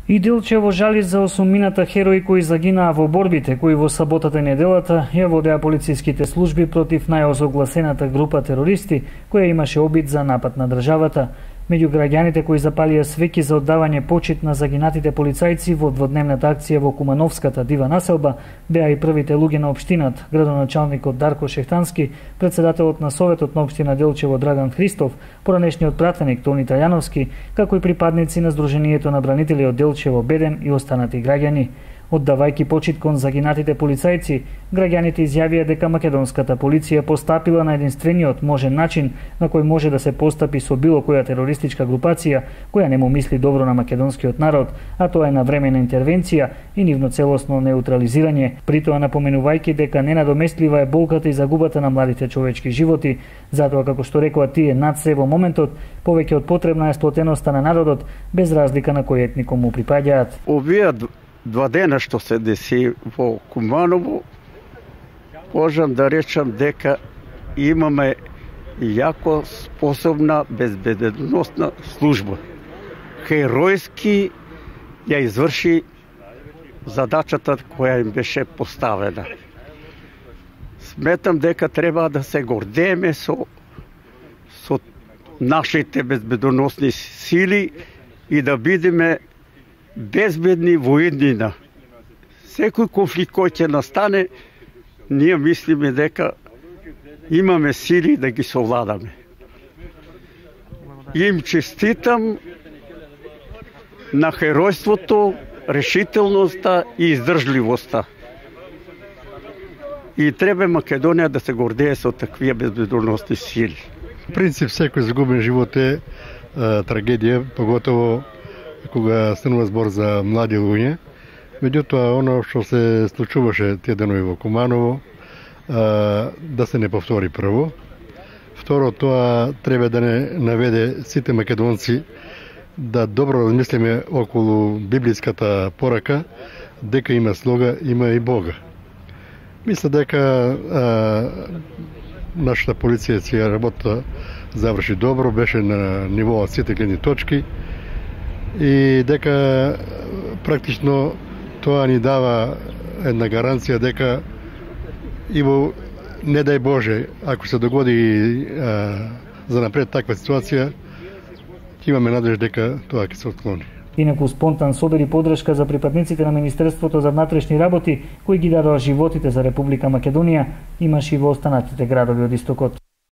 И Делчево жали за осумината херои кои загинаа во борбите кои во саботата и неделата ја водеа полициските служби против најозогласената група терористи која имаше обид за напад на државата. Меѓу граѓаните кои запалија свеќи за оддавање почит на загинатите полицајци во дводневната акција во Кумановската дива населба беа и првите луѓе на општинат, градоначалникот Дарко Шехтански, председателот на Советот на општина Делчево Драган Христов, поранешниот пратеник Тони Тајановски, како и припадници на Сдруженијето на бранители од Делчево Бедем и останати граѓани. Оддавајќи почит кон загинатите полицајци, граѓаните изјавија дека македонската полиција постапила на единствениот можен начин на кој може да се постапи со било која терористичка групација која не му мисли добро на македонскиот народ, а тоа е навремена интервенција и нивно целосно неутрализирање, при тоа напоменувајќи дека ненадоместлива е болката и загубата на младите човечки животи, затоа како што рекоа тие над се во моментот, повеќе од потребна е сплотеноста на народот без разлика на кој етникум му припаѓаат. Овие два дена што се деси во Куманово, можам да речам дека имаме јако способна безбедносна служба. Херојски ја изврши задачата која им беше поставена. Сметам дека треба да се гордееме со нашите безбедносни сили и да бидеме безбедни во иднина. Секој конфликт кој ќе настане, ние мислиме дека имаме сили да ги совладаме. Им честитам на херојството, решителноста и издржливоста. И треба Македонија да се гордее со таквија безбедносни сили. В принцип, секој загубен живот е трагедија, поготово кога станува збор за млади луѓе. Меѓутоа, оно што се случуваше тие денови во Куманово, да се не повтори прво. Второ, тоа треба да не наведе сите македонци да добро размислиме околу библиската порака, дека има слуга, има и Бога. Мисля дека нашата полиција си работа заврши добро, беше на ниво од сите гледни точки и дека практично тоа ни дава една гаранција дека и во, не дај Боже, ако се догоди за напред таква ситуација, имаме надеж дека тоа ќе се отклони. Инаку спонтан собир и подршка за припадниците на Министерството за внатрешни работи, кои ги дадоа животите за Република Македонија, имаше и во останатите градови од истокот.